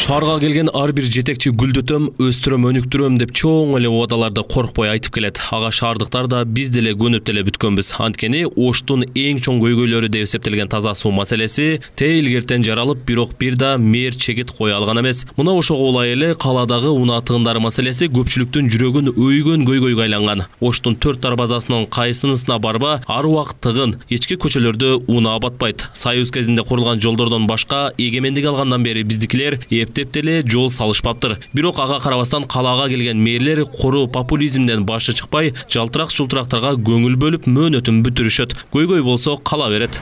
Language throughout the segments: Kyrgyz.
Шаарга келген ар бир жетекчи гүлдөтөм, өстүрөм, өнүктүрөм деп чоң эле убадаларды коркпой айтып келет. Ага шаардыктар да биз деле көнүп деле бүткөнбүз. Анткени Оштун эң чоң көйгөйлөрү деп эсептелген таза суу маселеси илгертен жаралып, бирок бир да мэр чегит кое алган эмес. Мына ошого улай эле каладагы унаа тыгындары маселеси көпчүлүктүн жүрөгүн өйгөн көйгөйгө айланган. Оштун 4 дарбазасынын кайсынысына барба ар убакыт тыгын, ички көчөлөрдө унаа батпайт. Союз кезинде курулган жолдордон башка эгемендик алгандан бери биздикилер эптеп деле жол салышпаптыр. Бирок ага карабастан калаага келген мэрлер кору популизмден башы чыкпай, жалтырак-жултурактарга көңүл бөлүп мөөнөтүн бүтүрүшөт. Көйгөй болсо кала берет.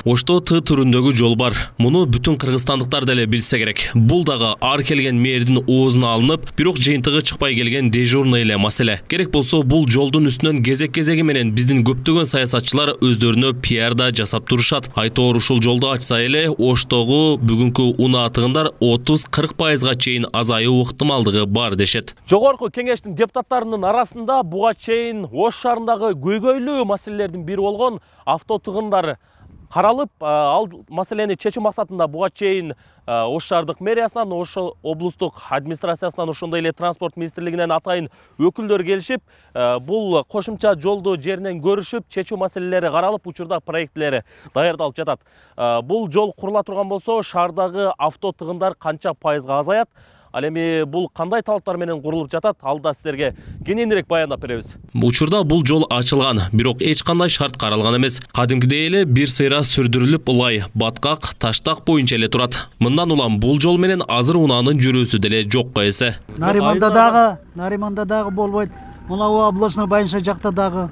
Ошто Т түрүндөгү жол бар. Муну бүтүн кыргызстандыктар деле билсе керек. Бул дагы ар келген мэрдин оозуна алынып, бирок жыйынтыгы чыкпай келген дежурный эле маселе. Керек болсо бул жолдун үстүнөн кезек-кезеги менен биздин көптөгөн саясатчылар өздөрүнө пиарда жасап турушат. Айтоор ушул жолду ачса эле Оштогу бүгүнкү унаа тыгындар 30-40%га чейин азайуу ыктымалдыгы бар дешет. Жогорку кеңештин депутаттарынын арасында буга чейин Ош шаарындагы көйгөйлүү маселелердин бири болгон авто тыгындары каралып, ал маселени чечүү максатында буга чейин Ош шаардык мэриясынан, Ош облустук администрациясынан, ошондой эле транспорт министрлигинен атайын өкүлдөр келишип, бул кошумча жолду жеринен көрүшүп, чечүү маселелери каралып, учурда проекттери даярдалып жатат. Бул жол курула турган болсо, шаардагы авто тыгындар канча пайызга азаят? Ал эми бул кандай талаптар менен курулуп жатат? Алда силерге кененирээк баяндап беребиз. Учурда бул жол ачылган, бирок эч кандай шарт каралган эмес. Кадимкидей эле бир сыйра сүрдүрүлүп, ылай, баткак, таштак боюнча эле турат. Мындан улам бул жол менен азыр унаанын жүрүүсү деле жокко эсе. Нариманда дагы болбойт. Мына областной больница жакта дагы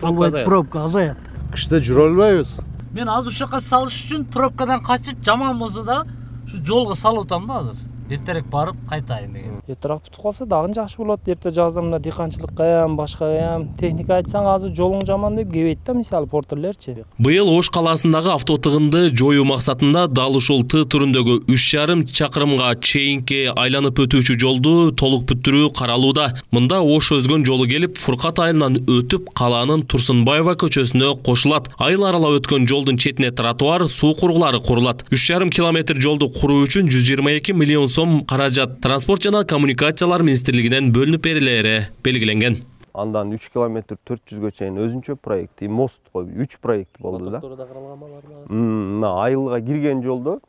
болбойт, пробка азаят. Кышта жүрө албайбыз. Мен азыр ушул жака салыш үчүн пробкадан качып, жаман болсо да ушу жолго салып атам да азыр. Эртерээк барып кайтайын деген. Эртерээк бүтүп калса дагы жакшы болот. Эрте жазда мына дыйканчылыкка башкага техника айтсаң азыр жолуң жаман деп кебейт да, мисалы портерлерчи. Быйыл Ош калаасындагы авто тыгынды жоюу максатында дал ушул Т түрүндөгү 3,5 чакырымга чейинки айланып өтүүчү жолду толук бүттүрүү каралууда. Мында Ош өзгөн жолу келип, Фуркат айылынан өтүп, калаанын Турсунбаева көчөсүнө кошулат. Айыл аралап өткөн жолдун четине тротуар, суу кургулары курулат. 3,5 километр жолду куруу үчүн 122 миллион сом каражат Транспорт жана коммуникациялар министрлигинен бөлүнүп берилери белгиленген. Андан 3 километр 400гө чейин өзүнчө проект, мост кой, 3 проект болду да. Мына айылга кирген жолдо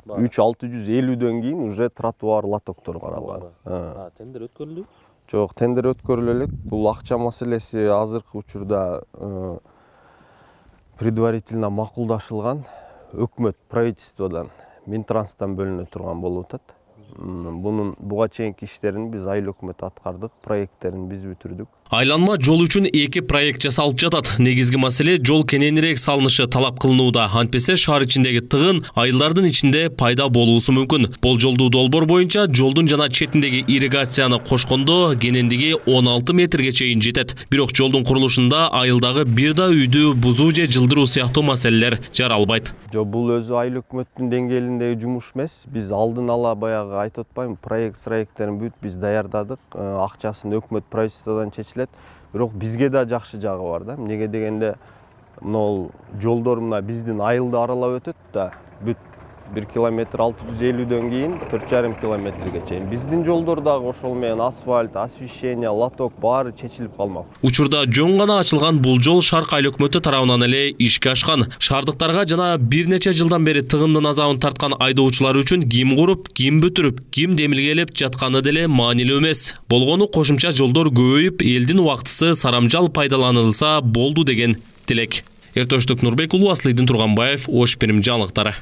3-650дөн кийин уже тротуар, лотоктор каралган. Тендер өткөрүлдү? Жок, тендер өткөрүлө элек. Бул акча маселеси азыркы учурда предварительно макулдашылган. Өкмөт правительстводан, Минтранстан бөлүнө турган болуп атат. Буга чейинки иштерин биз айыл өкмөтү аткардык, проекттерин биз бүтүрдүк. Айланма жол үчүн 2 проект жасалып жатат. Негизги маселе жол кененирээк салынышы талап кылынууда. Антпесе шаар ичиндеги тыгын айылдардын ичинде пайда болуусу мүмкүн. Болжолдуу долбоор боюнча жолдун жана четиндеги ирригацияны кошкондо кенендиги 16 метрге чейин жетет. Бирок жолдун курулушунда айылдагы бир да үйдү бузуу же жылдыруу сыяктуу маселелер жаралбайт. Бул өзү айыл өкмөттүн деңгээлиндеги жумуш эмес. Биз алдын ала баягы айтып атпаймынбы, проекттерин бүт биз даярдадык. Акчасын өкмөт правительстводон чечилет. Бирок бизге да жакшы жагы бар да. Эмнеге дегенде, мына жолдор мына биздин айылды аралап өтөт да. Бүт 1 километр 650дөн кийин 4,5 километрге чейин. Биздин жолдор дагы ошол менен асфальт, освещение, лоток баары чечилип калмак. Учурда жөн гана ачылган бул жол Шарк айыл өкмөтү тарабынан эле ишке ашкан. Шаардыктарга жана бир нече жылдан бери тыгындын азабын тарткан айдоочулар үчүн ким куруп, ким бүтүрүп, ким демилгелеп жатканы деле маанилүү эмес. Болгону кошумча жолдор көбөйүп, элдин убактысы сарамжал пайдаланылса болду деген тилек. Эртөштүк Нурбек уулу, Аслыйдын Турганбаев, Ош Перим жаңылыктары.